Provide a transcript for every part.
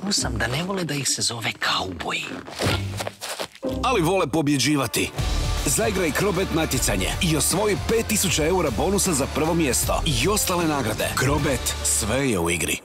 čuo sam da ne vole da ih se zove kauboji. Ali vole pobjeđivati. Zaigraj Crobet natjecanje i osvoji 5000 eura bonusa za prvo mjesto i ostale nagrade. Crobet, sve je u igri.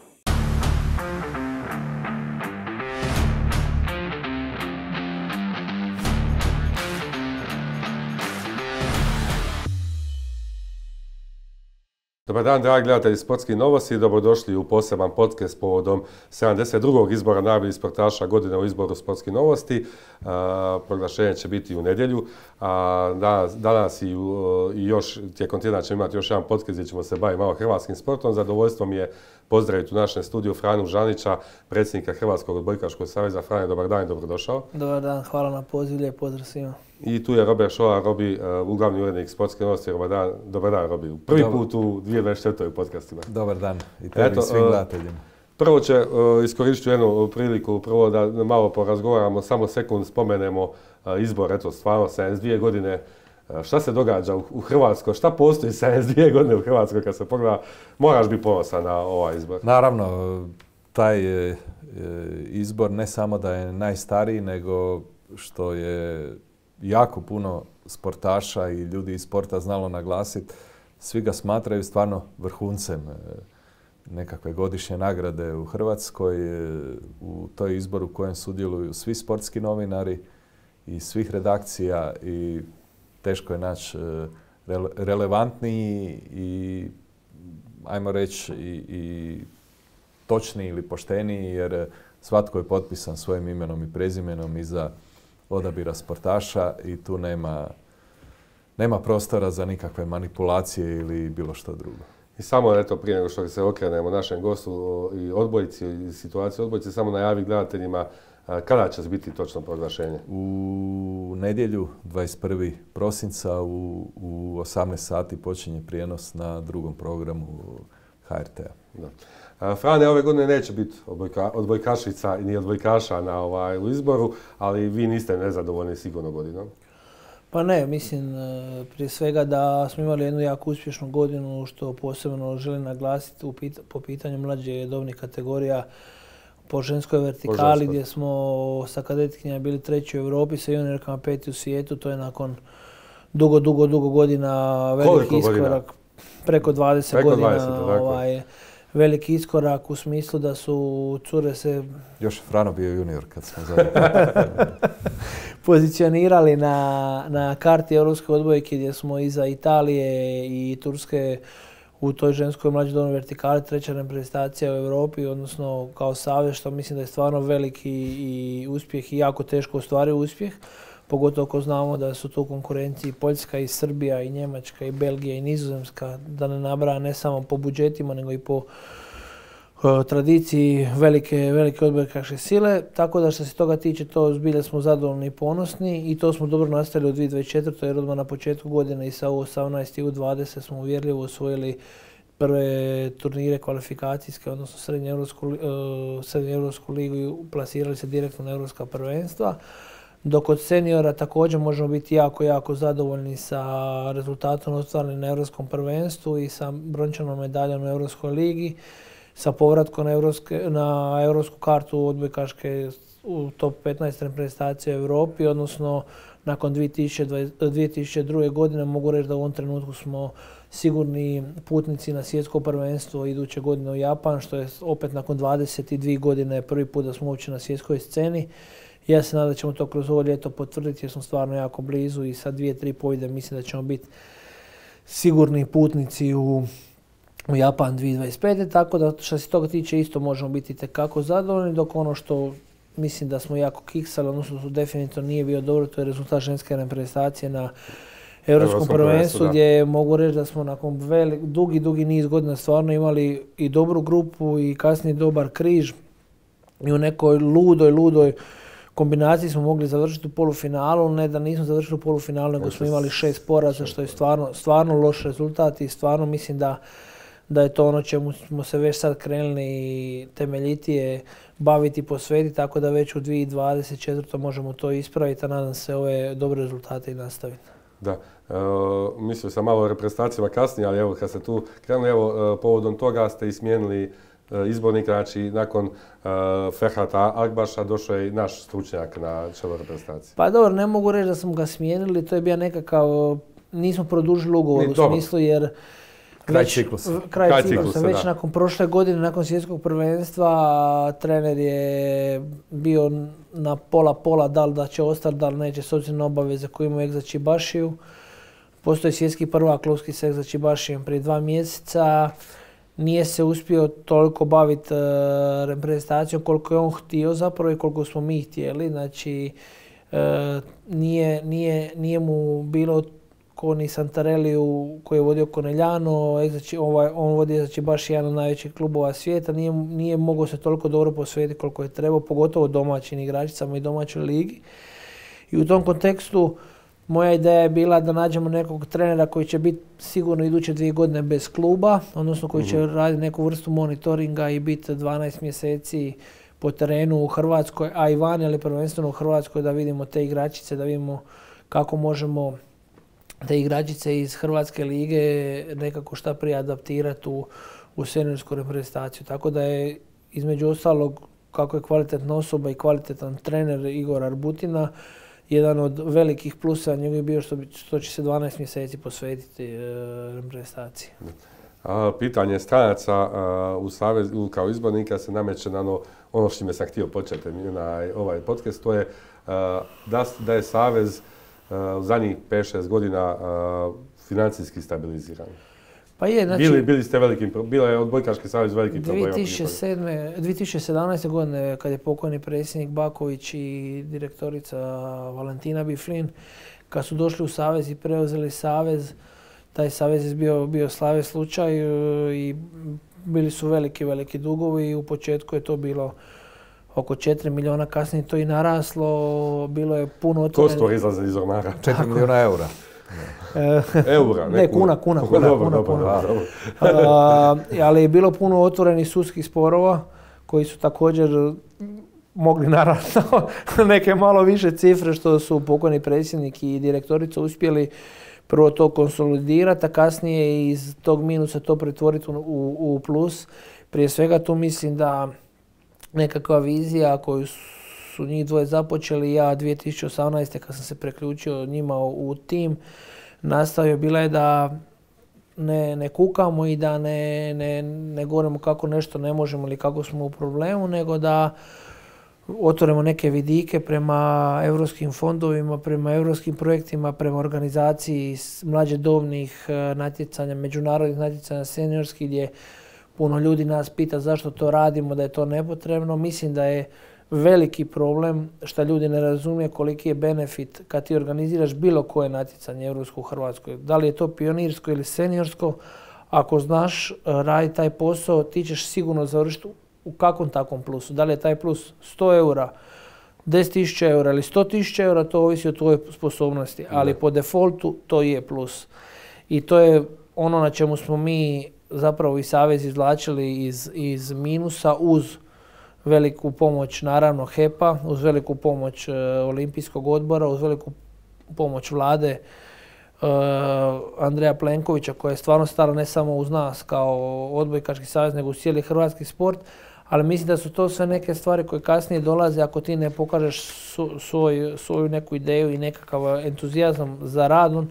Dobar dan, dragi gledatelji Sportskih novosti. Dobrodošli u poseban podcast povodom 72. izbora najboljih sportaša godine u izboru Sportskih novosti. Proglašenje će biti u nedjelju. Danas i još tijekom tjedna ćemo imati još jedan podcast gdje ćemo se baviti malo hrvatskim sportom. Zadovoljstvo mi je pozdraviti u našem studiju Franu Žanića, predsjednika Hrvatskog odbojkaškog saveza. Frane, dobar dan i dobrodošao. Dobar dan, hvala na pozivu, lijep pozdrav svima. I tu je Robert Šola, Robi, uglavni urednik Sportske novosti. Dobar dan, Robi. Prvi put u 2024. u podcastima. Dobar dan i tebi i svim gledateljima. Prvo će iskoristiti jednu priliku, prvo da malo porazgovaramo, samo sekund spomenemo izbor, eto stvarno 72 godine. Šta se događa u Hrvatskoj? Šta postoji 72 godine u Hrvatskoj kad se pogleda? Moraš biti ponosan na ovaj izbor. Naravno, taj izbor ne samo da je najstariji, nego što je jako puno sportaša i ljudi iz sporta znalo naglasiti. Svi ga smatraju stvarno vrhuncem nekakve godišnje nagrade u Hrvatskoj. U toj izboru u kojem sudjeluju svi sportski novinari i svih redakcija i teško je naći relevantniji i, ajmo reći, i točniji ili pošteniji, jer svatko je potpisan svojim imenom i prezimenom iza odabira sportaša i tu nema prostora za nikakve manipulacije ili bilo što drugo. I samo eto, prije nego što se okrenemo našem gostu i odbojci i situaciju odbojci, samo najavi gledateljima kada će biti točno proglašenje? U nedjelju 21. prosinca u 18 sati počinje prijenos na drugom programu HRT-a. Frane, ove godine neće biti odbojkašica ni odbojkaša u izboru, ali vi niste nezadovoljni sigurno godinom. Pa ne, mislim prije svega da smo imali jednu jako uspješnu godinu, što posebno želim naglasiti po pitanju mlađe dobnih kategorija po ženskoj vertikali, gdje smo sa kadetkinjama bili 3. u Europi, sa juniorkama 5. u svijetu. To je nakon dugo godina veliki iskorak. Preko 20 godina. Veliki iskorak u smislu da su cure se... Još Frano bio junior kad smo zadnji. pozicionirali na karti europske odbojke, gdje smo iza Italije i Turske u toj ženskoj mlađoj dobnoj vertikali 3. reprezentacija u Europi, odnosno kao savez, što mislim da je stvarno veliki i uspjeh i jako teško ostvario uspjeh. Pogotovo ako znamo da su tu u konkurenciji Poljska i Srbija i Njemačka i Belgija i Nizozemska, da ne nabraja ne samo po budžetima nego i po tradiciji velike odbojkaške sile. Tako da što se toga tiče, to zbilja smo zadovoljni i ponosni i to smo dobro nastavili u 2024. jer odmah na početku godine i sa U18 i U20 smo uvjerljivo osvojili prve turnire kvalifikacijske, odnosno srednjoeuropsku ligu i plasirali se direktno na europska prvenstva. Dok od seniora također možemo biti jako zadovoljni sa rezultatom ostvarenim na Europskom prvenstvu i sa brončanom medaljom na Europskoj ligi, sa povratkom na europsku kartu odbojkaške u top 15 reprezentacija u Europi, odnosno nakon 2002. godine mogu reći da u ovom trenutku smo sigurni putnici na svjetsko prvenstvo iduće godine u Japan, što je opet nakon 22 godine prvi put da smo uopće na svjetskoj sceni. Ja se nadam da ćemo to kroz ovo ljeto potvrditi jer smo stvarno jako blizu i sa 2-3 pobjede mislim da ćemo biti sigurni putnici u Japan 2025. Tako da što se toga tiče isto možemo biti itekako zadovoljni, dok ono što mislim da smo jako kiksali, odnosno što definitivno nije bio dobro, to je rezultat ženske reprezentacije na Europskom prvenstvu, gdje mogu reći da smo nakon dugi niz godina stvarno imali i dobru grupu i kasnije dobar križ i u nekoj ludoj kombinaciji smo mogli završiti u polufinalu, ne da nismo završili u polufinalu, nego smo imali 6 poraza, što je stvarno loš rezultat i stvarno mislim da je to ono čemu smo se već sad krenuli temeljitije baviti i posvetiti, tako da već u 2024. možemo to ispraviti, a nadam se ove dobre rezultate i nastaviti. Da, mislio sam malo o reprezentacijama kasnije, ali evo kad ste tu krenuli, evo povodom toga ste i smijenili izbornika, znači nakon Ferhata Akbaša došao je i naš stručnjak na čelo reprezentacije. Pa dobro, ne mogu reći da smo ga smijenili, to je bio nekakav, nismo produžili ugovor u smislu jer kraj ciklusa. Već nakon prošle godine, nakon svjetskog prvenstva, trener je bio na pola, da li da će ostati, da li neće, s obzirom na obaveze koje imaju Egza Čibašiju. Postoji svjetski prvak klubski s Egza Čibašijem prije 2 mjeseca. Nije se uspio toliko baviti reprezentacijom koliko je on htio zapravo i koliko smo mi htjeli. Znači, nije mu bilo ko ni Santareliju koji je vodio Conegliano, on vodi Egza baš jedan od najvećih klubova svijeta, nije mogao se toliko dobro posvetiti koliko je trebao, pogotovo domaćim igračicama i domaćoj ligi. I u tom kontekstu moja ideja je bila da nađemo nekog trenera koji će biti sigurno iduće 2 godine bez kluba, odnosno koji će raditi neku vrstu monitoringa i biti 12 mjeseci po terenu u Hrvatskoj, a i vani, ali prvenstveno u Hrvatskoj, da vidimo te igračice, da vidimo kako možemo te igračice iz Hrvatske lige nekako šta prije adaptirati u seniorsku reprezentaciju. Tako da je između ostalog, kako je kvalitetna osoba i kvalitetan trener Igor Arbutina, jedan od velikih plusa njegov je bio što će se 12 mjeseci posvetiti reprezentaciji. Pitanje stranaca u Savezu kao izbornika se nameće na ono što me sam htio početi na ovaj podcast, to je da je Savez u zadnjih 5-6 godina financijski stabiliziran. Pa je, znači... Bila je odbojkaški savez veliki problem. 2017. godine, kad je pokojni predsjednik Baković i direktorica Valentina Biflin, kad su došli u savez i preuzeli savez, taj savez je bio slave slučaj i bili su veliki dugovi i u početku je to bilo oko 4 milijuna, kasnije to i naraslo, bilo je puno otvoreno. Kostor izlaze iz ormara. 4 milijuna eura. Eura, ne kuna. Ali je bilo puno otvorenih sudskih sporova koji su također mogli narasti neke malo više cifre što su pokojni predsjednik i direktorica uspjeli prvo to konsolidirati, a kasnije iz tog minusa to pretvoriti u plus. Prije svega tu mislim da nekakva vizija koju su njih dvoje započeli, ja 2018. kad sam se priključio njima u tim, nastavio bila je da ne kukamo i da ne govorimo kako nešto ne možemo ili kako smo u problemu, nego da otvorimo neke vidike prema europskim fondovima, prema europskim projektima, prema organizaciji mlađe dobnih natjecanja, međunarodnih natjecanja seniorskih, gdje puno ljudi nas pita zašto to radimo, da je to nepotrebno. Mislim da je veliki problem što ljudi ne razumije koliki je benefit kad ti organiziraš bilo koje natjecanje europsko u Hrvatskoj. Da li je to pionirsko ili seniorsko, ako znaš raditi taj posao, ti ćeš sigurno završiti u kakvom takvom plusu. Da li je taj plus 100 eura, 10.000 eura ili 100.000 eura, to ovisi o tvojoj sposobnosti. Ali po defaultu to je plus. I to je ono na čemu smo mi zapravo i savez izvlačili iz minusa uz veliku pomoć naravno HEP-a, uz veliku pomoć Olimpijskog odbora, uz veliku pomoć vlade Andreja Plenkovića, koja je stvarno stala ne samo uz nas kao odbojkaški savez, nego uz cijeli hrvatski sport. Ali mislim da su to sve neke stvari koje kasnije dolaze ako ti ne pokažeš svoju neku ideju i nekakav entuzijazam za radom.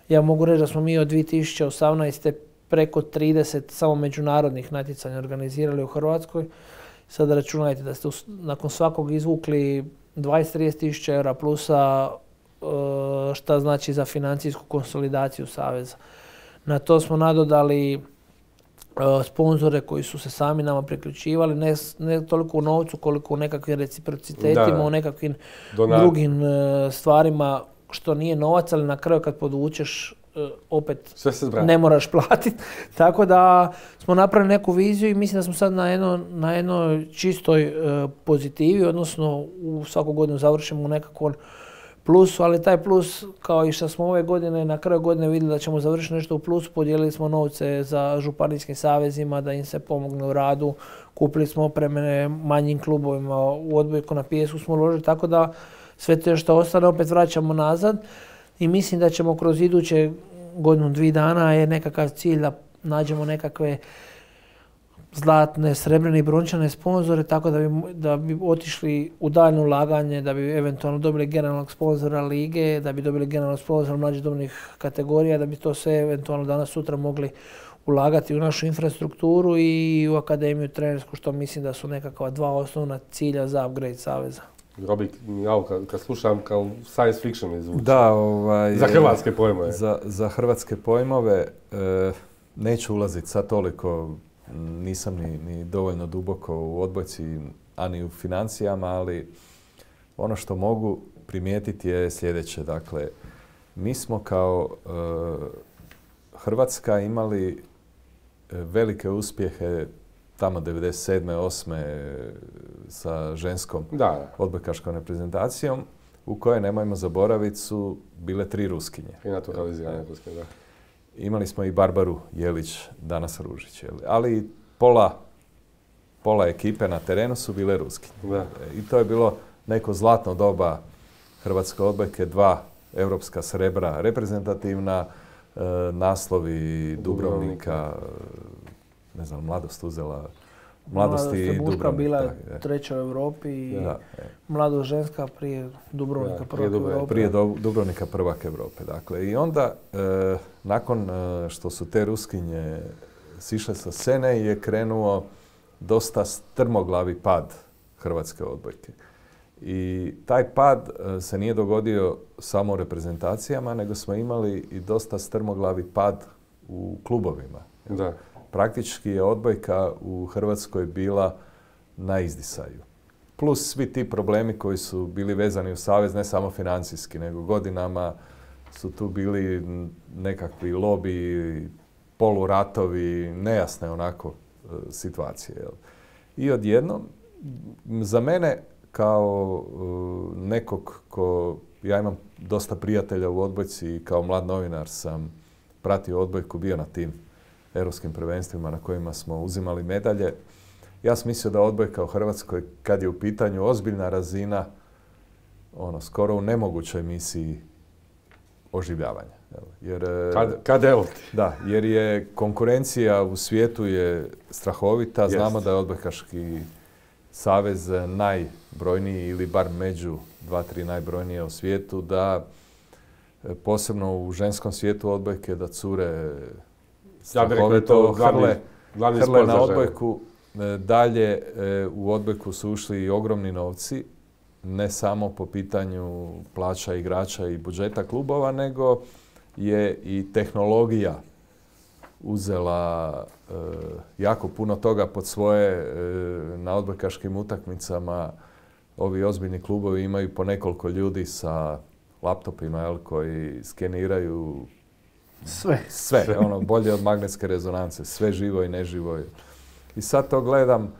Ja mogu reći da smo mi od 2018. preko 30 samo međunarodnih natjecanja organizirali u Hrvatskoj. Sada računajte da ste nakon svakog izvukli 20-30 tisuća eura plusa, šta znači za financijsku konsolidaciju saveza. Na to smo nadodali sponzore koji su se sami nama priključivali, ne toliko u novcu koliko u nekakvim reciprocitetima, u nekakvim drugim stvarima što nije novac, ali na kraju kad podvučeš opet ne moraš platiti. Tako da smo napravili neku viziju i mislim da smo sad na jednoj čistoj pozitivi, odnosno u svaku godinu završimo u nekakvom plusu, ali taj plus, kao i što smo ove godine, na kraju godine vidjeli da ćemo završiti nešto u plusu, podijelili smo novce za županijskim savezima da im se pomogne u radu, kupili smo opreme manjim klubovima, u odbojku na pijesku smo uložili, tako da sve to što ostane opet vraćamo nazad i mislim da ćemo kroz iduće godinu, 2 dana je nekakav cilj da nađemo nekakve zlatne, srebrne i brončane sponzore, tako da bi otišli u daljnje ulaganje, da bi eventualno dobili generalnog sponzora lige, da bi dobili generalnog sponzora mlađih dobnih kategorija, da bi to sve eventualno danas sutra mogli ulagati u našu infrastrukturu i u akademiju trenersku, što mislim da su nekakva dva osnovna cilja za upgrade saveza. Robi, kad slušam kao science fiction mi zvuči. Da, za hrvatske pojmove. Za hrvatske pojmove neću ulaziti sad toliko, nisam ni dovoljno duboko u odbojci, a ni u financijama, ali ono što mogu primijetiti je sljedeće. Dakle, mi smo kao Hrvatska imali velike uspjehe tamo 97. 8. sa ženskom odbojkaškom reprezentacijom, u kojoj, nemojmo zaboraviti, su bile 3 Ruskinje. I naturalizirane Ruskinje, da. Imali smo i Barbaru Jelić, danas Ružić. Ali pola ekipe na terenu su bile Ruskinje. Da. I to je bilo neko zlatno doba hrvatske odbojke, 2 europska srebra reprezentativna, naslovi Dubrovnika, ne znam, Mladost uzela, Mladost i Dubrovnik. Bila je 3. u Europi i Mladost ženska prije Dubrovnika prvak Europe. Prije Dubrovnika prvak Europe. Dakle. I onda, nakon što su te Ruskinje sišle sa scene, je krenuo dosta strmoglavi pad hrvatske odbojke. I taj pad se nije dogodio samo u reprezentacijama, nego smo imali i dosta strmoglavi pad u klubovima. Da. Praktički je odbojka u Hrvatskoj bila na izdisaju. Plus svi ti problemi koji su bili vezani u savez, ne samo financijski, nego godinama su tu bili nekakvi lobi, poluratovi, nejasne onako situacije. Jel? I odjednom, za mene kao nekog ja imam dosta prijatelja u odbojci i kao mlad novinar sam pratio odbojku, bio na tim europskim prvenstvima na kojima smo uzimali medalje. Ja sam mislio da odbojka u Hrvatskoj, kad je u pitanju ozbiljna razina, skoro u nemogućoj misiji oživljavanja. Jer, kad evo ti? Da, jer je konkurencija u svijetu je strahovita. Znamo da je odbojkaški savez najbrojniji ili bar među 2-3 najbrojnije u svijetu, da posebno u ženskom svijetu odbojke, da cure strahovito hrle na odbojku. Dalje u odbojku su ušli i ogromni novci, ne samo po pitanju plaća igrača i budžeta klubova, nego je i tehnologija uzela jako puno toga pod svoje. Na odbojkaškim utakmicama ovi ozbiljni klubovi imaju po nekoliko ljudi sa laptopima koji skeniraju sve, bolje od magnetske rezonance, sve živo i neživo. I sad to gledam,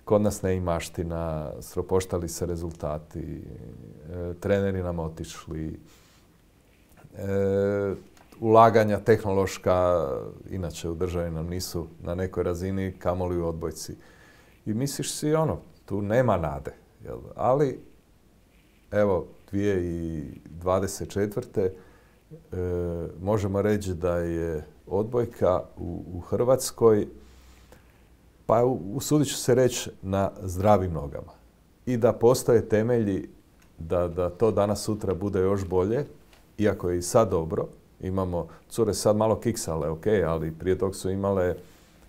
kod nas neimaština, sropoštali se rezultati, treneri nam otišli, ulaganja tehnološka, inače u državi nam nisu na nekoj razini, kamoli u odbojci. I misliš si tu nema nade. Jel? Ali, evo, 2024. Možemo reći da je odbojka u Hrvatskoj, pa usudit ću se reći, na zdravim nogama. I da postoje temelji da to danas sutra bude još bolje, iako je i sad dobro. Imamo, cure sad malo kiksale, ali prije tog su imale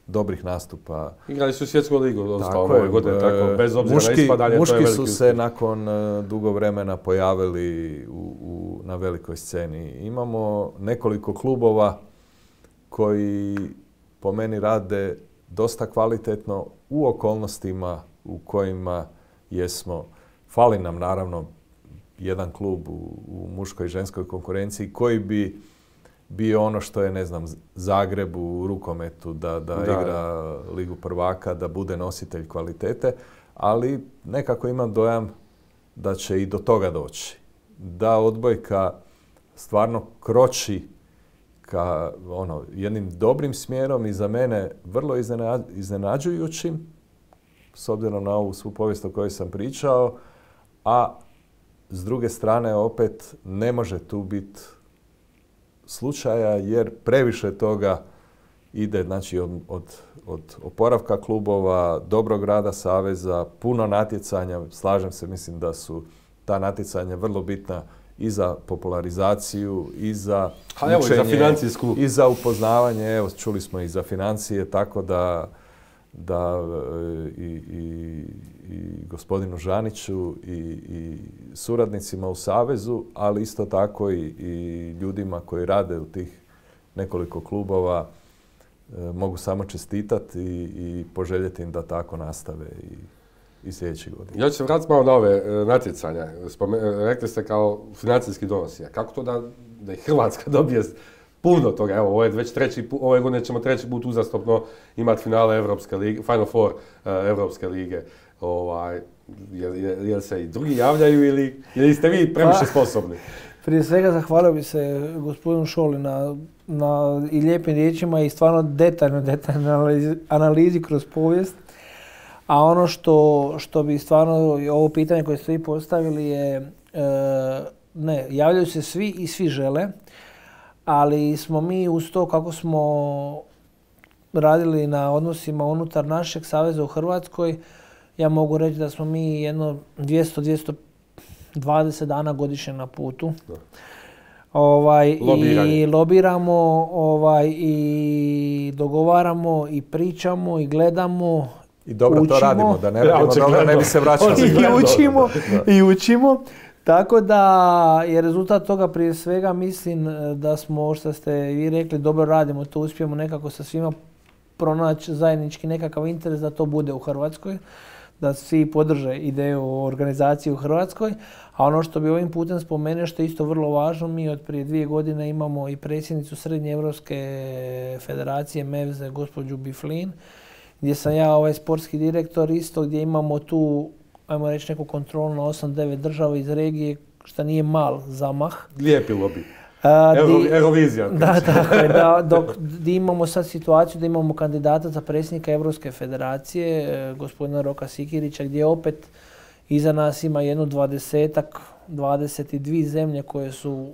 dobrih nastupa. Igrali su svjetsku ligu ove godine, tako, bez obzira na ispadanje. Muški su se nakon dugo vremena pojavili na velikoj sceni. Imamo nekoliko klubova koji po meni rade dosta kvalitetno u okolnostima u kojima jesmo. Fali nam naravno jedan klub u muškoj i ženskoj konkurenciji koji bi bio ono što je, ne znam, Zagreb u rukometu, da igra Ligu prvaka, da bude nositelj kvalitete, ali nekako imam dojam da će i do toga doći. Da odbojka stvarno kroči ka jednim dobrim smjerom i za mene vrlo iznenađujućim, s obzirom na ovu svu povijest o kojoj sam pričao, a s druge strane opet ne može tu biti slučaja jer previše toga ide znači od oporavka klubova, dobrog rada saveza, puno natjecanja. Slažem se, mislim da su ta natjecanja vrlo bitna i za popularizaciju, i za učenje, i za financijsku. i za upoznavanje. Evo, čuli smo i za financije, tako da i gospodinu Žaniću i suradnicima u Savezu, ali isto tako i ljudima koji rade u tih nekoliko klubova mogu samo čestitati i poželjeti im da tako nastave i sljedeći godin. Ja ću se vratiti malo na ove natjecanja. Rekli ste kao financijski donosi. Kako to da i Hrvatska dobije puno toga? Evo, ovo je već ove godine ćemo treći put uzastopno imati finale Evropske lige, Final Four Evropske lige. Jel se i drugi javljaju ili ste vi previše sposobni? Prije svega zahvalio bi se gospodinu Šoli na i lijepim riječima i stvarno detaljnoj analizi kroz povijest. A ono što bi stvarno, ovo pitanje koje ste vi postavili je, ne, javljaju se svi i svi žele, ali smo mi uz to kako smo radili na odnosima unutar našeg saveza u Hrvatskoj, ja mogu reći da smo mi jedno 200-220 dana godišnje na putu. I lobiramo, i dogovaramo, i pričamo, i gledamo, i dobro učimo. To radimo, da ne radimo dobro, ne bi se vraćali. I učimo. Tako da je rezultat toga prije svega, mislim da smo, što ste vi rekli, dobro radimo, to uspijemo nekako sa svima pronaći zajednički nekakav interes da to bude u Hrvatskoj, da svi podrže ideju o organizaciji u Hrvatskoj. A ono što bi ovim putem spomenuo, što je isto vrlo važno, mi od prije 2 godine imamo i predsjednicu Srednje Europske federacije MEVZE, gospođu Biflin, gdje sam ja sportski direktor isto, gdje imamo tu, ajmo reći, neku kontrolu na 8-9 država iz regije, što nije mal zamah. Lijepi lobby. Eurovizija. Da, tako je. Gdje imamo sad situaciju da imamo kandidata za predsjednika Europske federacije, gospodina Roka Sikirića, gdje opet iza nas ima jedno 22 zemlje koje su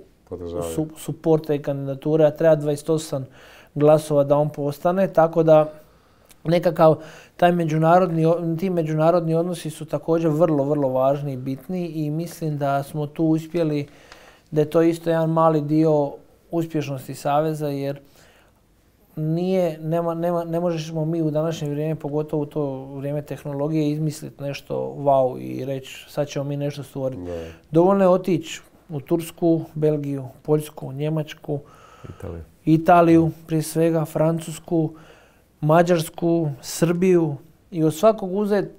suporte i kandidature, a treba 28 glasova da on postane, tako da nekakav ti međunarodni odnosi su također vrlo, vrlo važni i bitni i mislim da smo tu uspjeli, da je to isto jedan mali dio uspješnosti Saveza, jer ne možemo mi u današnje vrijeme, pogotovo u to vrijeme tehnologije, izmisliti nešto wow i reći sad ćemo mi nešto stvoriti. Dovoljno je otići u Tursku, Belgiju, Poljsku, Njemačku, Italiju prije svega, Francusku, Mađarsku, Srbiju i od svakog uzeti,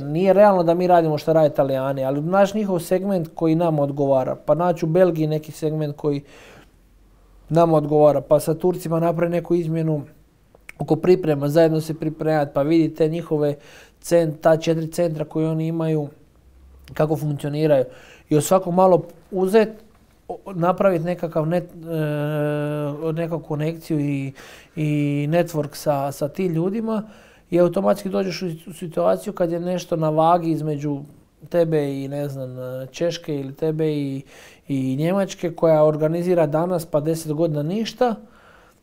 nije realno da mi radimo što rade Italijani, ali naš njihov segment koji nam odgovara, pa naći u Belgiji neki segment koji nam odgovara, pa sa Turcima napravi neku izmjenu oko priprema, zajedno se pripremati, pa vidite njihove ta 4 centra koje oni imaju, kako funkcioniraju. I od svakog malo uzeti, napraviti nekakvu konekciju i network sa tim ljudima i automatski dođeš u situaciju kad je nešto na vagi između tebe i Češke ili tebe i Njemačke koja organizira danas pa 10 godina ništa.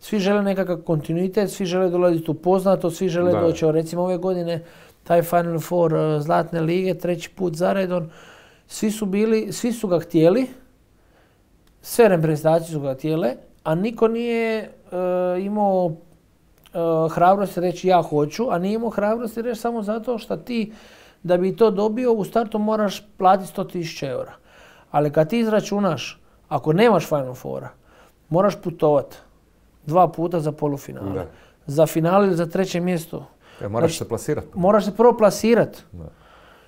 Svi žele nekakav kontinuitet, svi žele dolaziti u poznato, svi žele doći. Recimo ove godine taj Final Four Zlatne lige, 3. put zaredom, svi su ga htjeli, sve reprezentacije su ga htjele, a niko nije imao hrabrosti reći ja hoću, a nije imao hrabrosti reći samo zato što ti, da bi to dobio, u startu moraš platiti 100.000 eura. Ali kad ti izračunaš, ako nemaš Final Fora, moraš putovati 2 puta za polufinale. Da. Za finale ili za 3. mjesto. Moraš se plasirati. Moraš se prvo plasirati.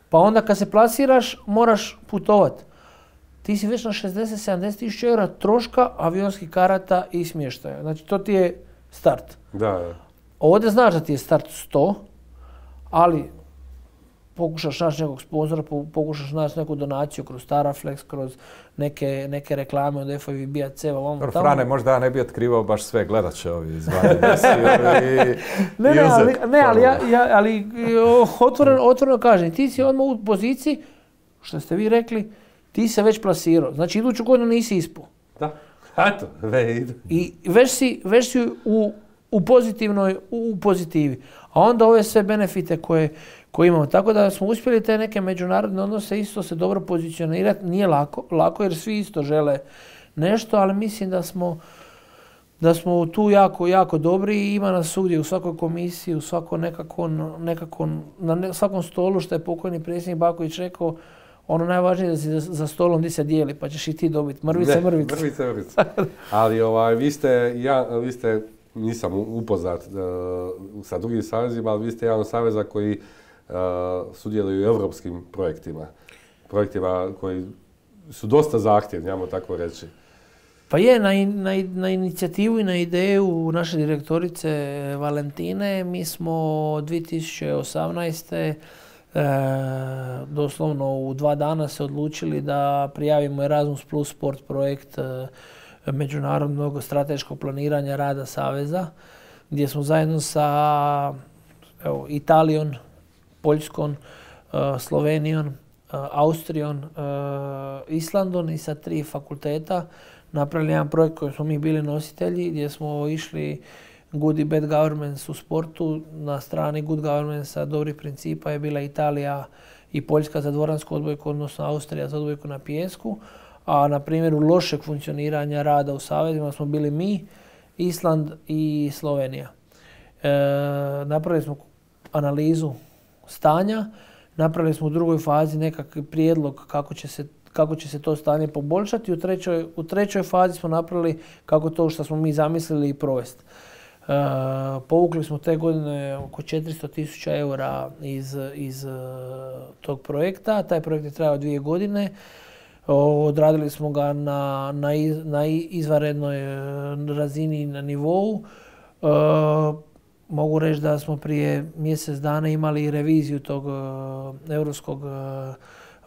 Pa onda kad se plasiraš, moraš putovati. Ti si već na 60-70.000 eura troška avionskih karata i smještaja. Znači to ti je start. Da. Ovdje znaš da ti je start 100, ali pokušaš naći nekog sponzora, pokušaš naći neku donaciju kroz Staraflex, kroz neke reklame od FIVB-a, CEVA, tamo. Frane, možda ja ne bi otkrivao baš sve, gledat će ovi izvani ali otvoreno kažem, ti si odmah u poziciji, što ste vi rekli, ti se već plasirao. Znači iduću godinu nisi ispao. Da, eto, I već si u pozitivi. A onda ove sve benefite koje imamo. Tako da smo uspjeli te neke međunarodne odnose isto se dobro pozicionirati. Nije lako jer svi isto žele nešto, ali mislim da smo tu jako dobri i ima nas svugdje u svakoj komisiji, u svakom na svakom stolu, što je pokojni predsjednik Baković rekao, ono najvažnije je da si za stolom gdje se dijeli, pa ćeš i ti dobiti. Mrvice. Ali vi ste, nisam upoznat sa drugim savezima, ali vi ste jedan od saveza koji sudjeluju u europskim projektima. Projektima koji su dosta zahtjevni, ajmo tako reći. Pa je, na inicijativu i na ideju naše direktorice Valentine mi smo 2018. Doslovno u 2 dana se odlučili da prijavimo Erasmus Plus Sport projekt međunarodnog strateškog planiranja rada Saveza, gdje smo zajedno sa Italijom, Poljskom, Slovenijom, Austrijom, Islandom i sa 3 fakulteta napravili jedan projekt koji smo mi bili nositelji, gdje smo išli Good i Bad Governments u sportu. Na strani Good Governmentsa dobrih principa je bila Italija i Poljska za dvoransku odbojku, odnosno Austrija za odbojku na pijesku. A na primjeru lošeg funkcioniranja rada u savezima smo bili mi, Island i Slovenija. Napravili smo analizu stanja, napravili smo u drugoj fazi nekakav prijedlog kako će se to stanje poboljšati. U trećoj fazi smo napravili kako to što smo mi zamislili i provesti. Povukli smo te godine oko 400.000 eura iz tog projekta. Taj projekt je trajao 2 godine. Odradili smo ga na izvanrednoj razini i na nivou. Mogu reći da smo prije mjesec dana imali reviziju tog europskog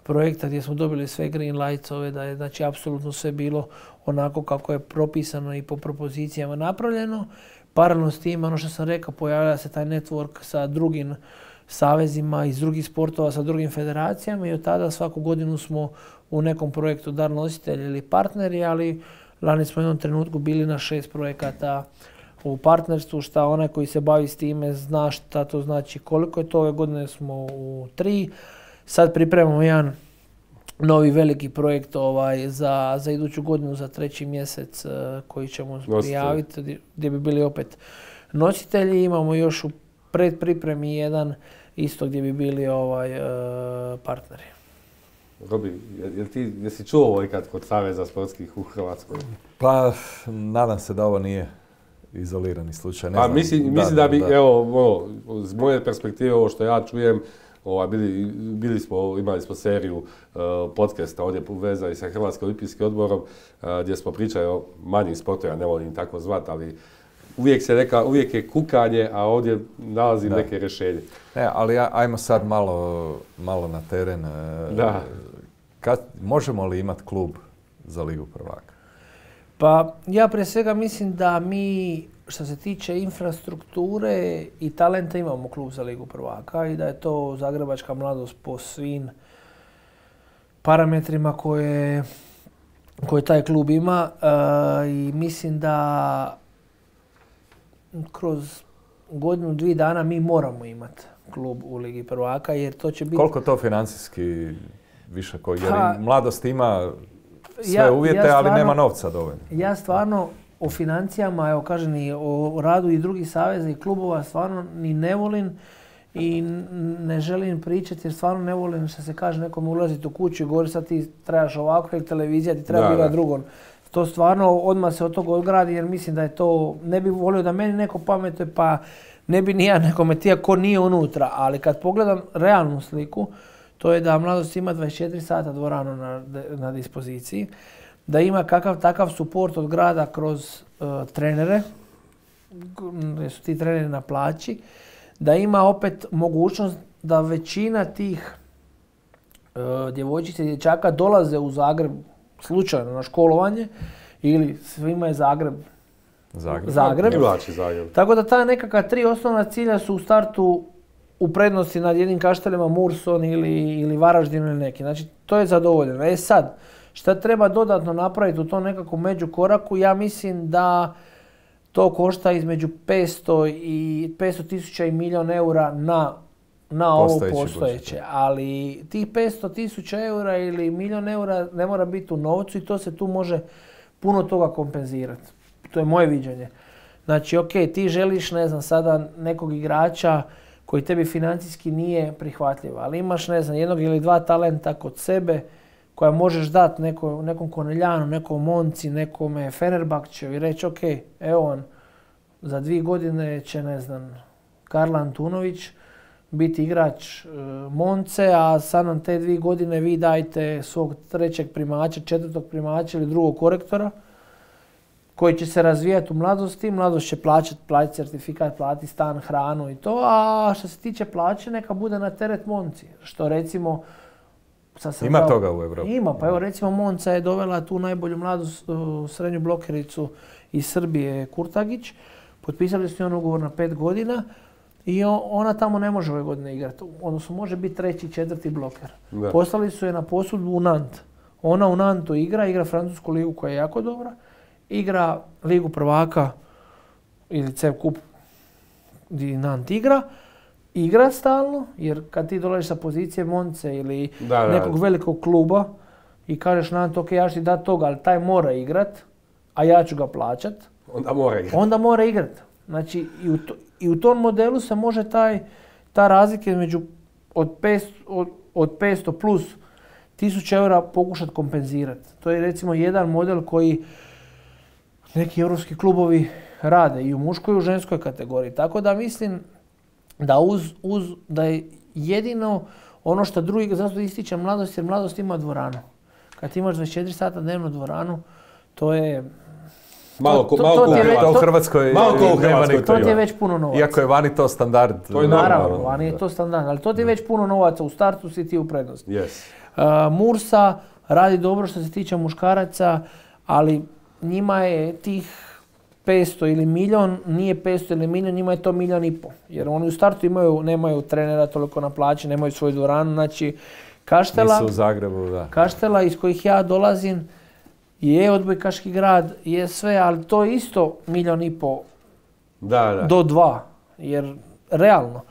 projekta gdje smo dobili sve green lights-ove, da je znači apsolutno sve bilo onako kako je propisano i po propozicijama napravljeno. Paralelno s tim, ono što sam rekao, pojavlja se taj network sa drugim savezima iz drugih sportova, sa drugim federacijama i od tada svaku godinu smo u nekom projektu dar nositelji ili partneri, ali lani smo u jednom trenutku bili na 6 projekata u partnerstvu, šta onaj koji se bavi s time zna šta to znači, koliko je to. Ove godine smo u 3. Sad pripremamo jedan novi veliki projekt za iduću godinu, za 3. mjesec koji ćemo prijaviti, gdje bi bili opet nositelji. Imamo još u predpripremi jedan isto gdje bi bili partneri. Robi, jesi čuo ovo ikad kod Saveza sportskih u Hrvatskoj? Pa, nadam se da ovo nije izolirani slučaj. Mislim da bi, evo, iz moje perspektive, ovo što ja čujem, imali smo seriju podcasta ovdje uvezani sa Hrvatskim olimpijskim odborom gdje smo pričali o manjim sportovima, ne volim tako zvat, ali uvijek je kukanje, a ovdje nalazim neke rješenje. Ali ajmo sad malo na teren. Možemo li imati klub za Ligu prvaka? Pa ja prije svega mislim da mi, što se tiče infrastrukture i talenta, imamo klub za Ligu prvaka i da je to Zagrebačka mladost po svim parametrima koje taj klub ima i mislim da kroz godinu, 2 dana mi moramo imati klub u Ligi prvaka jer to će biti... Koliko to financijski više jer mladost ima sve uvjete, ali nema novca dovoljno. Ja stvarno o financijama, evo kažem i o radu i drugih saveza i klubova stvarno ni ne volim i ne želim pričati jer stvarno ne volim što se kaže nekom ulaziti u kuću i govori sad ti trebaš ovako ili televizija ti treba bila drugo. To stvarno odmah se od toga odgradi jer mislim da je to, ne bih volio da meni neko pametuje pa ne bi ni ja nekome tija ko nije unutra, ali kad pogledam realnu sliku, to je da mladost ima 24 sata dvoranu na dispoziciji, da ima kakav takav suport od grada kroz trenere, jer su ti treneri na plaći, da ima opet mogućnost da većina tih djevojčica i dječaka dolaze u Zagreb slučajno na školovanje ili svima je Zagreb. Tako da ta nekakva 3 osnovna cilja su u startu u prednosti nad jednim Kaštelima, Murson ili Varaždinu ili neki. Znači, to je zadovoljeno. Sad, šta treba dodatno napraviti u tom nekakvom međukoraku? Ja mislim da to košta između 500 tisuća i milijun eura na ovo postojeće. Ali tih 500 tisuća eura ili milijun eura ne mora biti u novcu i to se tu može puno toga kompenzirati. To je moje viđenje. Znači, ok, ti želiš, ne znam, sada nekog igrača koji tebi financijski nije prihvatljiv, ali imaš, ne znam, jednog ili dva talenta kod sebe koja možeš dati nekom Koneljanu, nekom Monci, nekome Fenerbahčevu i reći, ok, evo on, za 2 godine će, ne znam, Karla Antunović biti igrač Monce, a sad nam te 2 godine vi dajte svog 3. primača, 4. primača ili drugog korektora koji će se razvijati u mladosti. Mladost će platiti certifikat, platiti stan, hranu i to, a što se tiče plaće neka bude na teret Monci. Što recimo... Ima toga u Evropi. Ima, pa evo recimo Monca je dovela tu najbolju mladu srednju blokericu iz Srbije, Kurtagić. Potpisali su njoj ugovor na 5 godina i ona tamo ne može ove godine igrati. Odnosno može biti 3., 4. bloker. Da. Poslali su je na posudbu u Nant. Ona u Nantu igra francusku ligu koja je jako dobra, igra ligu prvaka ili CEF kup gdje Nant igra stalno, jer kad ti dolaziš sa pozicije Monce ili nekog velikog kluba i kažeš Nant, ok, ja ću ti dati toga, ali taj mora igrat, a ja ću ga plaćat, onda mora igrat. Znači, i u tom modelu se može ta razlika između od 500 plus 1000 eura pokušati kompenzirati. To je recimo jedan model koji neki europski klubovi rade i u muškoj i u ženskoj kategoriji. Tako da mislim da da je jedino ono što drugi, zato ističe mladost, jer mladost ima dvoranu. Kad ti imaš 24 sata dnevno dvoranu, to je... Malo u Hrvatskoj to ti je već puno novaca. Iako je vani to standard. Naravno, vani je to standard, ali to ti je već puno novaca. U startu si ti u prednosti. Mursa radi dobro što se tiče muškaraca, ali njima je tih 500 ili milijun, nije 500 ili milijun, njima je to 1,5 milijun. Jer oni u startu nemaju trenera toliko na plaći, nemaju svoju dvoranu. Znači, Kaštela, nisu u Zagrebu, da. Kaštela iz kojih ja dolazim je odbojkaški grad, je sve, ali to je isto 1,5 milijun do 2, jer realno.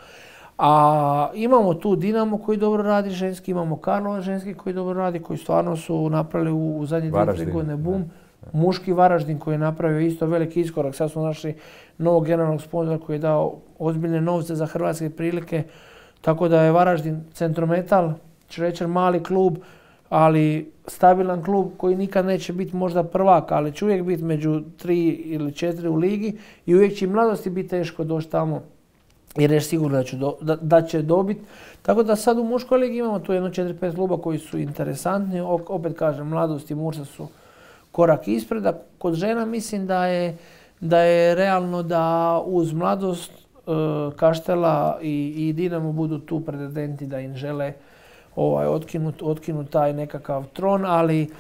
A imamo tu Dinamo koji dobro radi ženski, imamo Karlova ženski koji dobro radi, koji stvarno su napravili u zadnje 2-3 godine boom. Muški Varaždin koji je napravio isto veliki iskorak. Sad smo našli novog generalnog sponzora koji je dao ozbiljne novce za hrvatske prilike. Tako da je Varaždin Centrometal, ću reći mali klub, ali stabilan klub koji nikad neće biti možda prvak, ali će uvijek biti među 3 ili 4 u ligi i uvijek će i mladosti biti teško doći tamo jer je sigurno da će dobiti. Tako da sad u muškoj ligi imamo tu 4-5 kluba koji su interesantni. Opet kažem, mladost i Mursa su korak ispred, a kod žena mislim da je realno da uz mladost Kaštela i Dinamo budu tu pretendenti da im žele otkinut taj nekakav tron, ali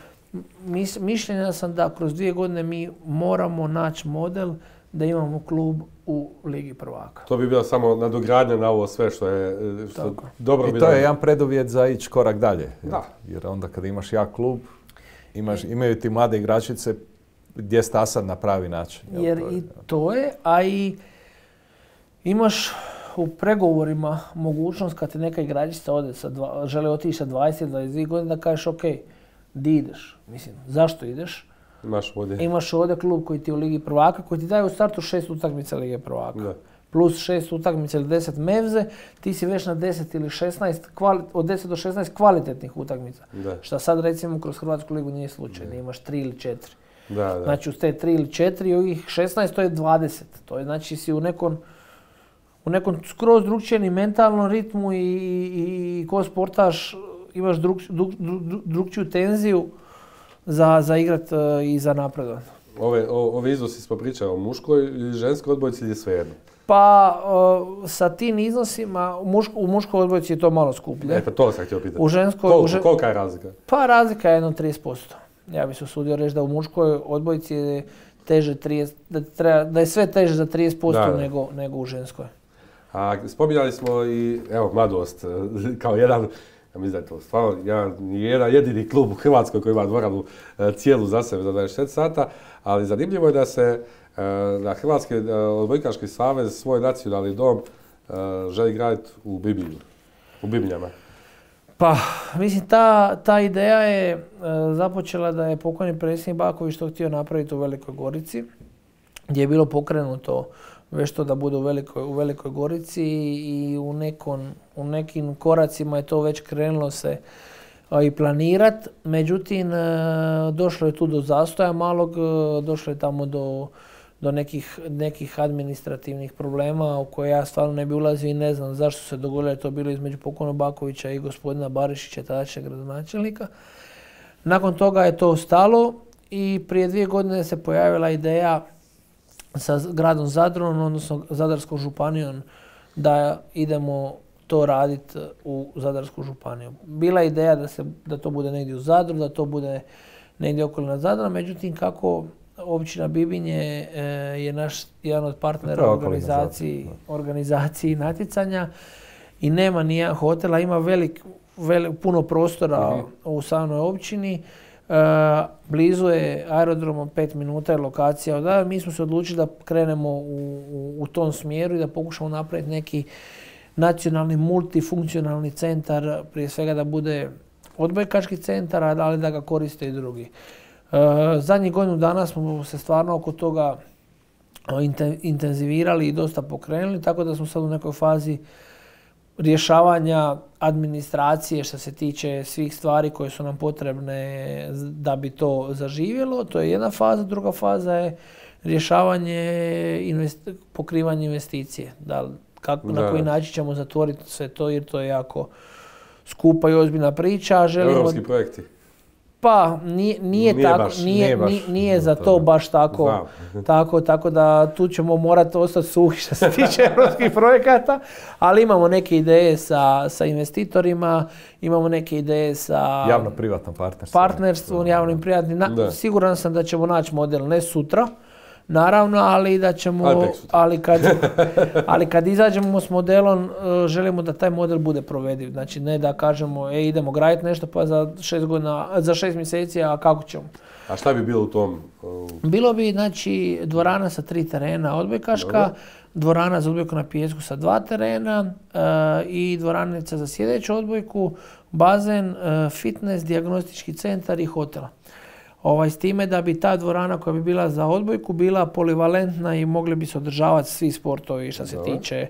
mišljenja sam da kroz 2 godine mi moramo naći model da imamo klub u Ligi prvaka. To bi bila samo nadogradnja na ovo sve što je dobro. I to je jedan preduvjet za ići korak dalje. Jer onda kada imaš jak klub, imaju ti mlade igračice gdje stasat na pravi način. Jer i to je, a i imaš u pregovorima mogućnost kad ti neka igračica žele otići sa 20-22 godine da kažeš ok, di ideš? Mislim, zašto ideš? Imaš ovdje klub koji ti je u Ligi prvaka, koji ti daje u startu 6 utakmica Lige prvaka. Da. Plus 6 utakmica ili 10 mevze, ti si već na 10 ili 16, od 10 do 16 kvalitetnih utakmica. Da. Šta sad recimo kroz Hrvatsku ligu nije slučaj, da imaš 3 ili 4. Da. Znači uz te 3 ili 4 i ovih 16 to je 20. To je znači si u nekom skroz drugčijem mentalnom ritmu i ko sportaš imaš drugčiju tenziju za igrat i za napredovanje. Ove iznosi smo pričali o muškoj ili ženskoj odbojci ili svejedno? Pa sa tim iznosima u muškoj odbojci je to malo skuplje. Pa to sam htio pitati. U ženskoj, kolika je razlika? Pa razlika je jedno 30%. Ja bih se usudio reći da u muškoj odbojci je teže 30, da je sve teže za 30% nego u ženskoj. A spominjali smo i mladost kao jedan, ja mislim da je to stvarno jedan jedini klub u Hrvatskoj koji ima dvoranu cijelu za sebe za 24 sata, ali zanimljivo je da se Da Hrvatski odbojkaški savez svoj nacionalni dom želi graditi u Bibinju, u Bibinjama. Pa, mislim, ta ideja je započela da je pokojni predsjednik Baković to htio napraviti u Velikoj Gorici, gdje je bilo pokrenuto već to da bude u Velikoj Gorici i u nekim koracima je to već krenulo se i planirat. Međutim, došlo je tu do zastoja malog, došlo je tamo do nekih administrativnih problema u koje ja stvarno ne bi ulazio i ne znam zašto se dogodilo, je to bilo između pokojnog Bakovića i gospodina Barišića, tadašnjeg gradonačelnika. Nakon toga je to stalo i prije 2 godine se pojavila ideja sa gradom Zadrom, odnosno Zadarskom županijom, da idemo to raditi u Zadarsku županiju. Bila je ideja da to bude negdje u Zadru, da to bude negdje okolina Zadra, međutim kako općina Bibinje je naš jedan od partnera organizaciji natjecanja i nema nijedan hotel, a ima puno prostora u samoj općini. Blizu je aerodromom, 5 minuta je lokacija odavde. Mi smo se odlučili da krenemo u tom smjeru i da pokušamo napraviti neki nacionalni multifunkcionalni centar, prije svega da bude odbojkaški centar, ali da ga koriste i drugi. Zadnjih godinu dana smo se stvarno oko toga intenzivirali i dosta pokrenuli, tako da smo sad u nekoj fazi rješavanja administracije što se tiče svih stvari koje su nam potrebne da bi to zaživjelo. To je jedna faza. Druga faza je rješavanje pokrivanje investicije. Na koji način ćemo zatvoriti sve to, jer to je jako skupa i ozbiljna priča. Europski projekti. Pa nije za to baš tako da tu ćemo morati ostati suhi što se tiče europskih projekata, ali imamo neke ideje sa investitorima, imamo neke ideje sa javno-privatnom partnerstvom, javnim privatnim. Siguran sam da ćemo naći model, ne sutra, naravno, ali da ćemo, ali kad izađemo s modelom, želimo da taj model bude provediv. Znači ne da kažemo idemo graditi nešto pa za 6 mjeseci, a kako ćemo. A šta bi bilo u tom? Bilo bi znači dvorana sa 3 terena odbojkaška, dvorana za odbojku na pijesku sa 2 terena i dvoranica za sjedeću odbojku, bazen, fitness, dijagnostički centar i hotel. S time da bi ta dvorana koja bi bila za odbojku bila polivalentna i mogli bi se održavati svi sportovi što se tiče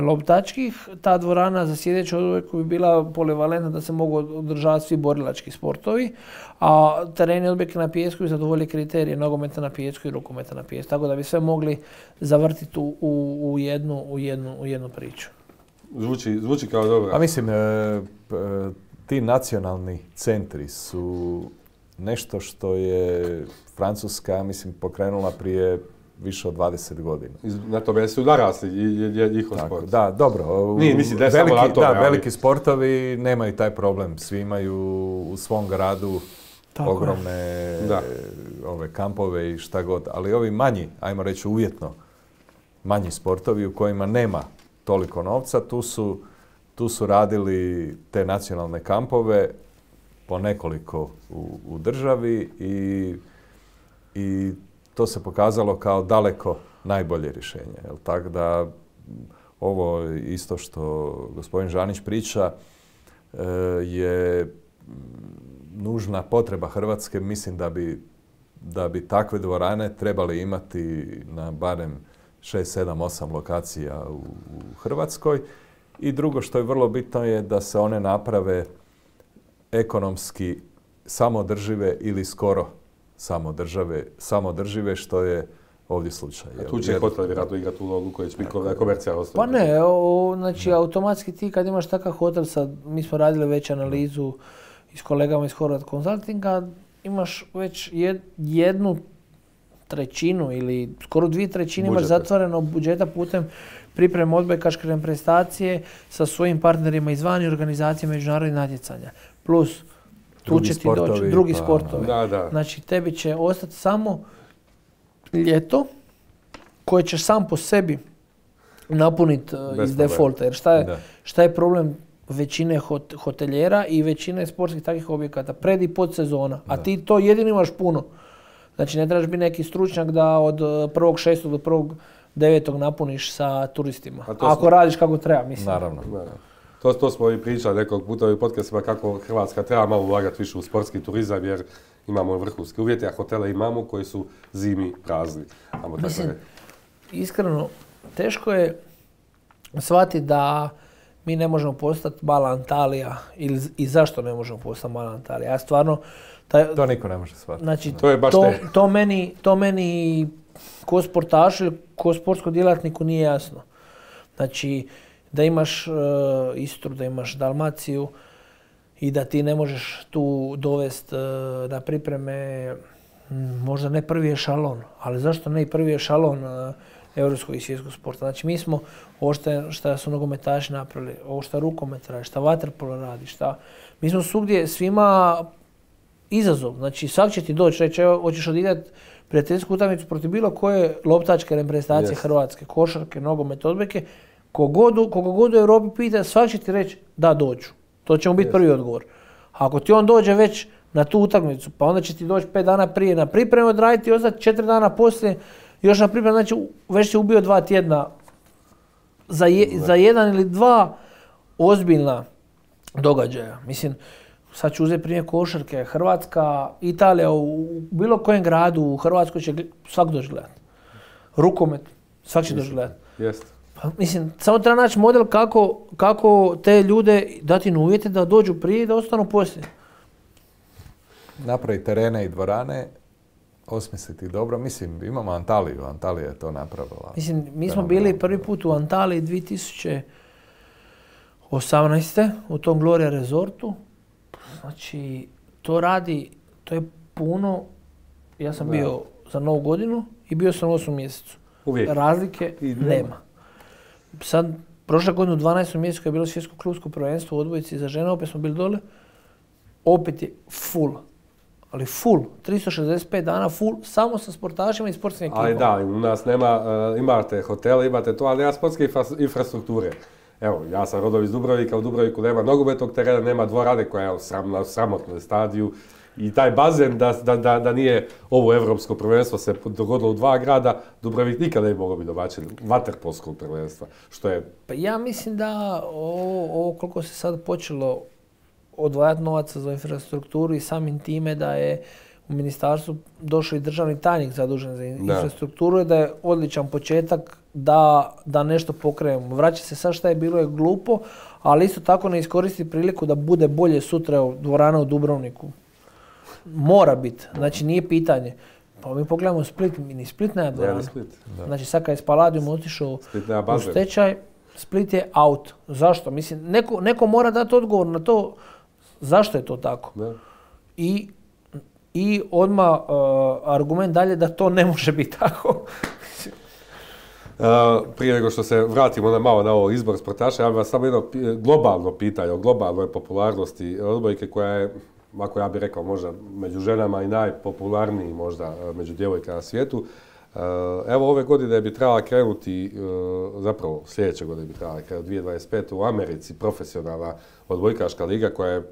loptačkih. Ta dvorana za sjedeću odbojku bi bila polivalentna da se mogu održavati svi borilački sportovi, a tereni odbojke na pijesku zadovolje kriterije nogometa na pijesku i rukometa na pijesku, tako da bi sve mogli zavrtiti u jednu priču. Zvuči kao dobro. A mislim, ti nacionalni centri su nešto što je Francuska, mislim, pokrenula prije više od 20 godina. Na tome su narasli njihov sport. Da, dobro. Veliki sportovi nemaju taj problem. Svi imaju u svom gradu ogromne kampove i šta god. Ali ovi manji, ajmo reći uvjetno, manji sportovi u kojima nema toliko novca, tu su radili te nacionalne kampove po nekoliko u državi i to se pokazalo kao daleko najbolje rješenje. Tako da ovo isto što gospodin Žanić priča je nužna potreba Hrvatske. Mislim da bi takve dvorane trebali imati na barem 6, 7, 8 lokacija u Hrvatskoj. I drugo što je vrlo bitno je da se one naprave ekonomski samoodržive ili skoro samoodržive, što je ovdje slučaj. A tu će hotel vjerojatno igrati ulogu koji će biti komercijalno. Pa ne, znači automatski ti kad imaš takav hotel, sad mi smo radili već analizu s kolegama iz Horvat Consultinga, imaš već 1/3 ili skoro 2/3 imaš zatvoreno budžeta putem pripreme odbojkaške reprezentacije sa svojim partnerima izvana i organizacije međunarodnih natjecanja. Plus, tu će ti doći drugi sportovi. Znači, tebi će ostati samo ljeto koje ćeš sam po sebi napuniti iz defaulta. Jer šta je problem većine hotelijera i većine sportskih takvih objekata? Pred i pod sezona. A ti to jedino imaš puno. Znači ne trebaš biti neki stručnjak da od 1.6. do 1.9. napuniš sa turistima. Ako radiš kako treba, mislim. Naravno. To smo i pričali nekog puta u podcastima kako Hrvatska treba malo ulagati više u sportski turizam jer imamo vrhunske uvjete, a hotele imamo koji su zimi prazni. Mislim, iskreno, teško je shvatiti da mi ne možemo postati mala Antalija i zašto ne možemo postati mala Antalija. Ja stvarno... To niko ne može shvatiti. Znači, to je baš to meni ko sportašu ili ko sportskom djelatniku nije jasno. Znači, da imaš Istru, da imaš Dalmaciju i da ti ne možeš tu dovesti na pripreme možda ne prvi ešalon, ali zašto ne i prvi ešalon europskog i svjetskog sporta. Znači mi smo ovo što su nogometaši napravili, ovo što rukomet radi, što vaterpolo radi, mi smo svugdje svima izazov. Znači svak će ti doći, reći hoćeš odigrati prijateljsku utakmicu protiv bilo koje loptačke reprezentacije Hrvatske, košarke, nogomet, odbojke, koga god u Europi pita, svak će ti reći da dođu. To će mu biti prvi odgovor. Ako ti on dođe već na tu utakmicu, pa onda će ti doći 5 dana prije na pripremu odraditi i ostati 4 dana poslije još na pripremu, znači već si ubio 2 tjedna za 1 ili 2 ozbiljna događaja. Mislim, sad ću uzeti primjer košarke. Hrvatska, Italija, u bilo kojem gradu u Hrvatskoj će svak doći gledati. Rukomet, svak će doći gledati. Pa, mislim, samo treba naći model kako te ljude dati na uvjete da dođu prije i da ostanu poslije. Napravi terene i dvorane, osmisliti dobro. Mislim, imamo Antaliju, Antalija je to napravila. Mislim, mi smo bili prvi put u Antaliji 2018. u tom Gloria Resortu. Znači, to je puno. Ja sam bio za Novu godinu i bio sam u 8. mjesecu. Uvijek. Razlike nema. Sad, prošle godine u 12. mjesecu je bilo svjetsko klubsko prvenstvo u odbojci za žene, opet smo bili dole. Opet je full. Ali full, 365 dana full, samo sa sportašima i sportskim ekipama. Ali da, u nas imate hotele, imate to, ali nema sportske infrastrukture. Evo, ja sam rodom iz Dubrovnika, u Dubrovniku nema nogometnog terena, nema dvorane koja je na sramotnom stadiju. I taj bazen, da nije ovo evropsko prvenstvo se dogodilo u 2 grada, Dubrovnik nikada ne bi mogao biti domaćin vaterpolskog prvenstva. Što je... Pa ja mislim da ovo koliko se sad počelo odvajati novaca za infrastrukturu i samim time da je u ministarstvu došao i državni tajnik zadužen za infrastrukturu i da je odličan početak da nešto pokrenemo. Vraća se sad šta je bilo je glupo, ali isto tako ne iskoristi priliku da bude bolje sutra u dvorana u Dubrovniku. Mora biti, znači nije pitanje. Pa mi pogledamo Split, ni Split nema dvoranu. Znači sad kad je Spaladium otišao u stečaj, Split je out. Zašto? Mislim, neko mora dati odgovor na to zašto je to tako. Da. I odmah argument dalje da to ne može biti tako. Prije nego što se vratimo malo na ovo izbor sportaša, ja bih vas samo jedno globalno pitanje o globalnoj popularnosti odbojke koja je, ako ja bih rekao, možda među ženama i najpopularniji možda među djevojkama na svijetu. Evo ove godine bi trebala krenuti, zapravo sljedeće godine bi trebala krenuti 2025. u Americi profesionalna odbojkaška liga koja je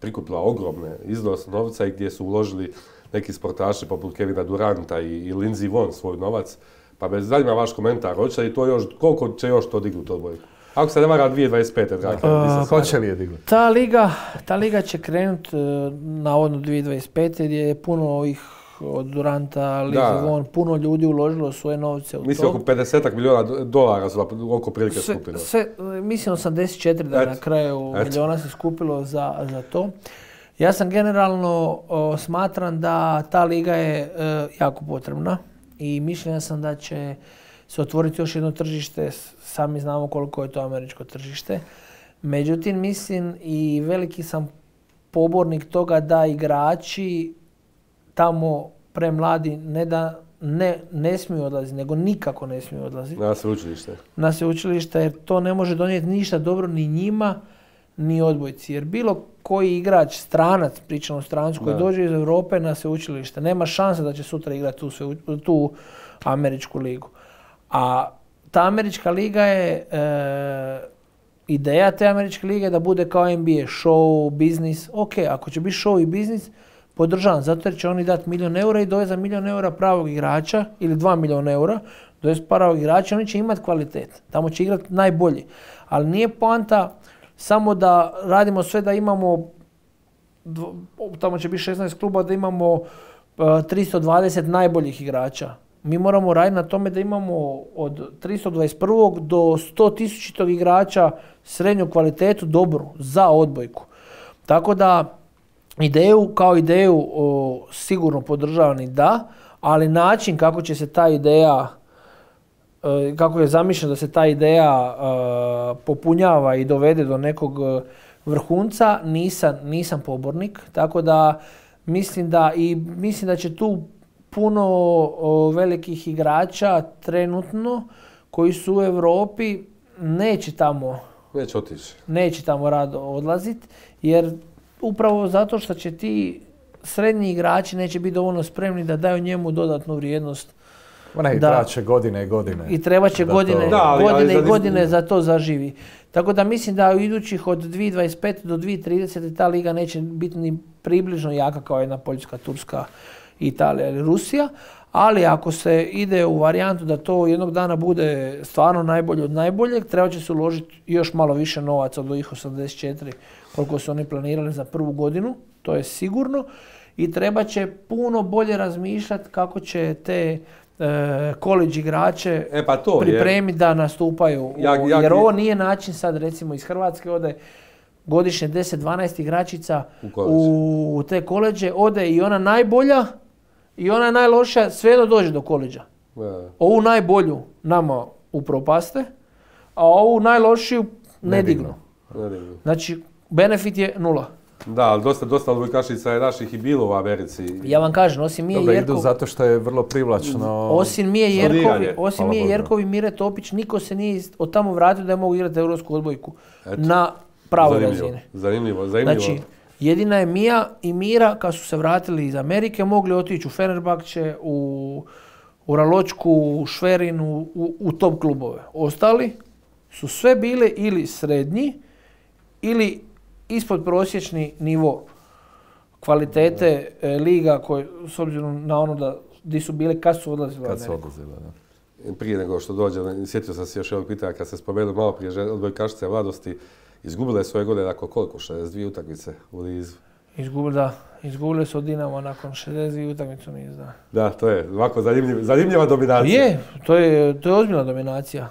prikupila ogromne iznos novca i gdje su uložili neki sportaši poput Kevina Duranta i Lindsey Vonn svoj novac. Pa me zanima vaš komentar, hoće li to još, koliko će još to dignuti odbojku? Ako se ne vara 2025. dragi. Hoće li je dignuti? Ta liga će krenuti navodno 2025. gdje je puno ovih od Duranta, Lindsey Vonn, puno ljudi uložilo svoje novce u to. Mislim oko $50 milijuna su oko prilike skupilo. Mislim 84 da na kraju milijuna se skupilo za to. Ja sam generalno smatram da ta liga je jako potrebna i mišljenja sam da će se otvoriti još jedno tržište, sami znamo koliko je to američko tržište. Međutim, mislim i veliki sam pobornik toga da igrači tamo premladi ne smiju odlaziti, nego nikako ne smiju odlaziti. Na sveučilište, jer to ne može donijeti ništa dobro ni njima, ni odbojci. Jer bilo koji igrač, stranac, pričamo o strancu, koji dođe iz Europe na sveučilište, nema šanse da će sutra igrati tu američku ligu. A ta američka liga je, ideja te američke lige da bude kao NBA, show, biznis. Ok, ako će biti show i biznis, podržavam, zato jer će oni dati 1 000 000 i dovesti za 1 000 000 pravog igrača ili 2 milijuna eura, dovesti pravog igrača, oni će imati kvalitet. Tamo će igrati najbolji. Ali nije poanta samo da radimo sve da imamo, tamo će biti 16 kluba, da imamo 320 najboljih igrača. Mi moramo raditi na tome da imamo od 321. do 100.000 igrača srednju kvalitetu dobru za odbojku. Tako da ideju kao ideju sigurno podržavam i da, ali način kako će se ta ideja, kako je zamišljeno da se ta ideja popunjava i dovede do nekog vrhunca, nisam pobornik. Tako da mislim da će tu puno velikih igrača trenutno koji su u Europi neće tamo rado odlaziti, jer upravo zato što će ti srednji igrači neće biti dovoljno spremni da daju njemu dodatnu vrijednost. Trebat godine i godine. I treba će godine za to zaživi. Tako da mislim da u idućih od 2025. do 2030. ta liga neće biti ni približno jaka kao jedna Poljska, Turska, Italija ili Rusija, ali ako se ide u varijantu da to jednog dana bude stvarno najbolje od najboljeg, treba će se uložiti još malo više novaca od ovih 84 koliko su oni planirali za prvu godinu, to je sigurno, i treba će puno bolje razmišljati kako će te college igrače pripremiti da nastupaju. Jer ovo nije način sad recimo iz Hrvatske ode godišnje 10-12 igračica u te koleđe, ode i ona najbolja i ona najlošija, sve dođe do koleđa. Ovu najbolju nama upropaste, a ovu najlošiju ne dignu. Znači, benefit je 0. Da, ali dosta odbojkašica je naših i bilo u Americi. Ja vam kažem, osim Mije Jerkov... idu zato što je vrlo privlačno... Osim Mije Jerkov i Mire Topić, niko se nije od tamo vratio da je mogu igrati europsku odbojku na pravoj razini. Zanimljivo. Znači, jedina je Mija i Mira, kad su se vratili iz Amerike, mogli otići u Fenerbahče, u Raločku, u Šverin, u top klubove. Ostali su sve bile ili srednji, ili ispod prosječni nivo kvalitete liga s obzirom na ono da di su bile kad su odlazili u Ameriku. Prije nego što dođe, sjetio sam se još jednog pitanja kad se spomenuo malo prije odbojkašice mladosti, izgubile svoje godine nakon koliko? 62 utakmice u nizu. Izgubile su od Dinama nakon 62 utakmicu niz, da. Da, to je ovako zanimljiva dominacija. To je ozbiljna dominacija.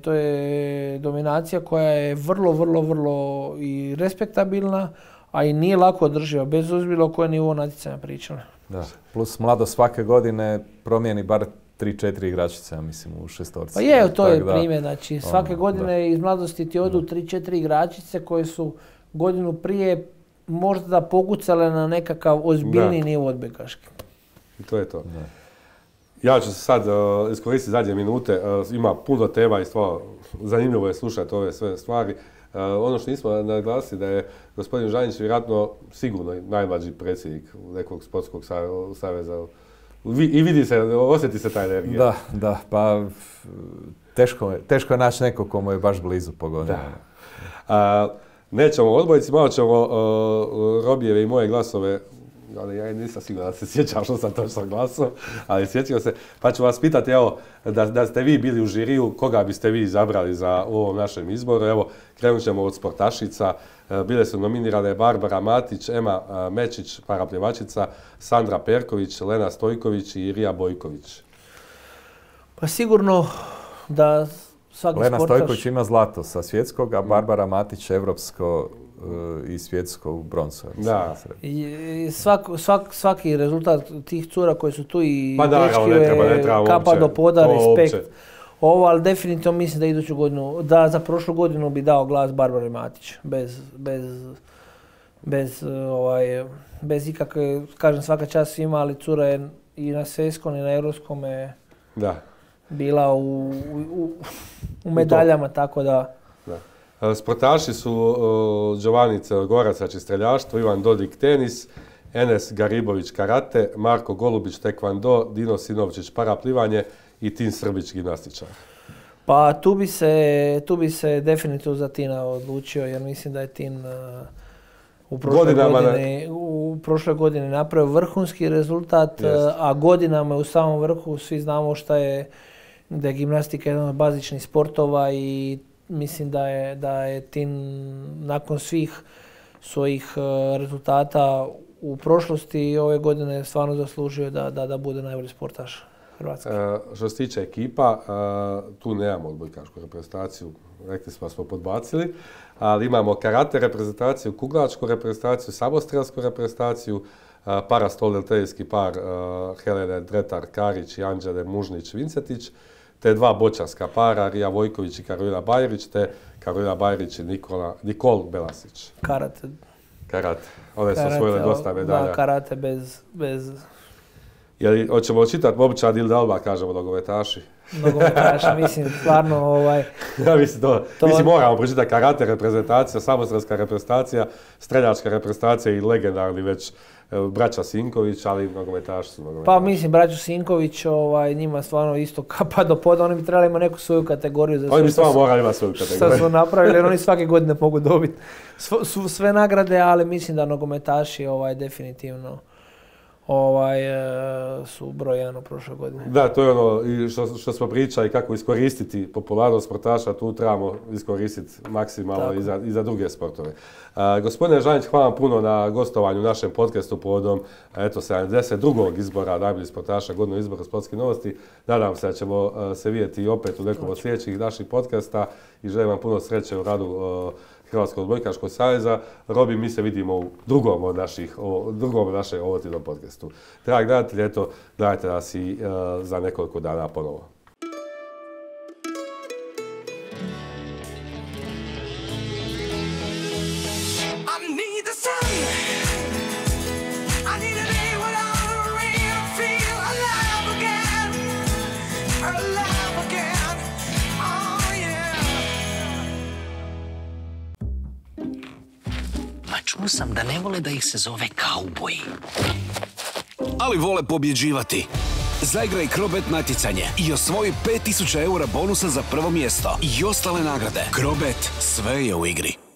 To je dominacija koja je vrlo i respektabilna, a i nije lako održiva, bez obzira o kojem nivou natjecanja pričali. Da, plus mlado svake godine promijeni bar 3-4 igračice, ja mislim, u šestorci. Pa to je primjer, znači svake godine iz mladosti ti odu 3-4 igračice koje su godinu prije možda pokucale na nekakav ozbiljni nivo odbojkaški. I to je to. Ja ću se sad iskoristiti zadnje minute, ima puno tema i stvarno zanimljivo je slušati ove sve stvari. Ono što nismo naglasili da je gospodin Žanić vjerojatno sigurno najmlađi predsjednik nekog sportskog saveza. I vidi se, osjeti se ta energija. Da, pa teško je naći nekog komu je baš blizu po godinama. Nećemo o odbojci, malo ćemo Robijeve i moje glasove, ali ja nisam siguran da se sjećam što sam točno glasao, ali sjećam se, pa ću vas pitati, evo, da ste vi bili u žiriju, koga biste vi izabrali za ovom našem izboru. Evo, krenut ćemo od sportašica. Bile su nominirane Barbara Matić, Ema Mečić, parapljevačica, Sandra Perković, Lena Stojković i Irija Bojković. Pa sigurno da svaki Lena sportaš... Stojković ima zlato sa svjetskog, a Barbara Matić evropsko i svjetsko u broncu. Da. Svaki rezultat tih cura koji su tu i dečki kapa do poda, respekt. Ovo, ali definitivno mislim da iduću godinu, da za prošlu godinu bi dao glas Barbari Matić. Bez ikakve, kažem svaka čast svima, ali cura je i na svjetskom i na europskom bila u medaljama, tako da... Sportaši su Giovanni Crnogorac, znači streljaštvo, Ivan Dodik tenis, Enes Garibović karate, Marko Golubić tekvando, Dino Sinovčić paraplivanje i Tin Srbić gimnastičar. Pa tu bi se definitivno za Tina odlučio, jer mislim da je Tin u prošloj godini napravio vrhunski rezultat, a godinama u samom vrhu svi znamo da je gimnastika jedan od bazičnih sportova i mislim da je Tin nakon svih svojih rezultata u prošlosti i ove godine stvarno zaslužio da bude najbolji sportaš Hrvatske. Što se tiče ekipa, tu nemamo odbojkašku reprezentaciju, rekli smo podbacili, ali imamo karate reprezentaciju, kuglačku reprezentaciju, samostrelsku reprezentaciju, parastoldeltejski par Helene Dretar-Karić i Anđele Mužnić-Vincetić, te dva boćarska para, Rija Vojković i Karolina Bajrić, te Karolina Bajrić i Nikol Belasić. Karate. One su osvojile dosta medalja. Da, karate bez... Hoćemo čitati momčad ili da odmah kažemo nogometaši? Nogometaši, mislim, stvarno Ja mislim, moramo pročitati karate reprezentacija, samostrelska reprezentacija, streljačka reprezentacija i legendarni već braća Sinković, ali nogometaši su nogometaši. Pa mislim, braću Sinković, njima stvarno isto kapa do poda, oni bi trebali imati neku svoju kategoriju. Oni bi stvarno morali imati svoju kategoriju. Što su napravili, jer oni svake godine mogu dobiti sve nagrade, ali mislim da nogometaši definitivno su broj 1 u prošloj godini. Da, to je ono što smo pričali, kako iskoristiti popularnost sportaša, tu trebamo iskoristiti maksimalno i za druge sportove. Gospodine Žanić, hvala vam puno na gostovanju u našem podcastu povodom 72. izbora najboljih sportaša godine izbora Sportskih novosti. Nadam se da ćemo se vidjeti opet u nekom od sljedećih naših podcasta i želim vam puno sreće u radu Hrvatskog odbojkaškog saveza. Robi, mi se vidimo u drugom našem ovotidnom podcastu. Dragi gledatelji, gledajte nas i za nekoliko dana ponovo. Čuo sam da ne vole da ih se zove kauboji. Ali vole pobjeđivati. Zaigraj Krobet natjecanje i osvoji 5000 € bonusa za prvo mjesto i ostale nagrade. Krobet, sve je u igri.